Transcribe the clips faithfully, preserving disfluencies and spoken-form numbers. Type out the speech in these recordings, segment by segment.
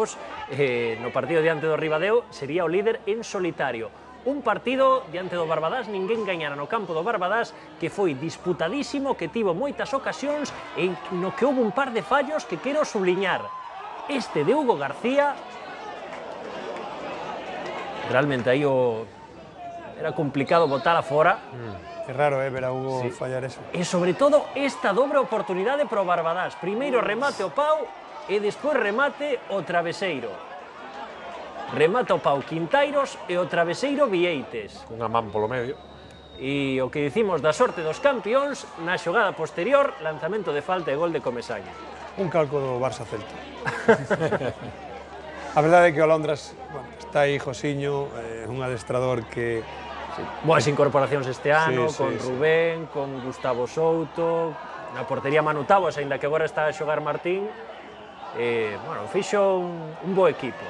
Ramos, eh, no partido diante do Ribadeo, sería o líder en solitario. Un partido diante do Barbadás, ninguén gañara no campo do Barbadás, que foi disputadísimo, que tivo moitas ocasións e no que houve un par de fallos que quero subliñar. Este de Hugo García, realmente aí o... era complicado botala fora. Mm. É raro, eh, ver a Hugo sí. fallar eso. E sobre todo esta dobre oportunidade pro Barbadás. Primeiro remate o Pau e despois remate o traveseiro. Remata o Pau Quintairos e o traveseiro Vieites. Unha man polo medio. E o que dicimos da sorte dos campións, na xogada posterior, lanzamento de falta e gol de Comesaña. Un calco do Barça Celta. A verdade é que o Londras, bueno, está aí Josiño, é eh, un adestrador que... Sí. Boas incorporacións este ano, sí, con sí, Rubén, sí. con Gustavo Souto, na portería Manu Tavos, aínda que agora está a xogar Martín. Eh, bueno, fixo un, un bo equipo.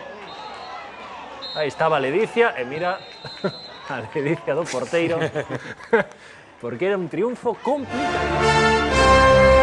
Aí estaba a Ledicia, e mira a Ledicia do porteiro, porque era un triunfo complicado.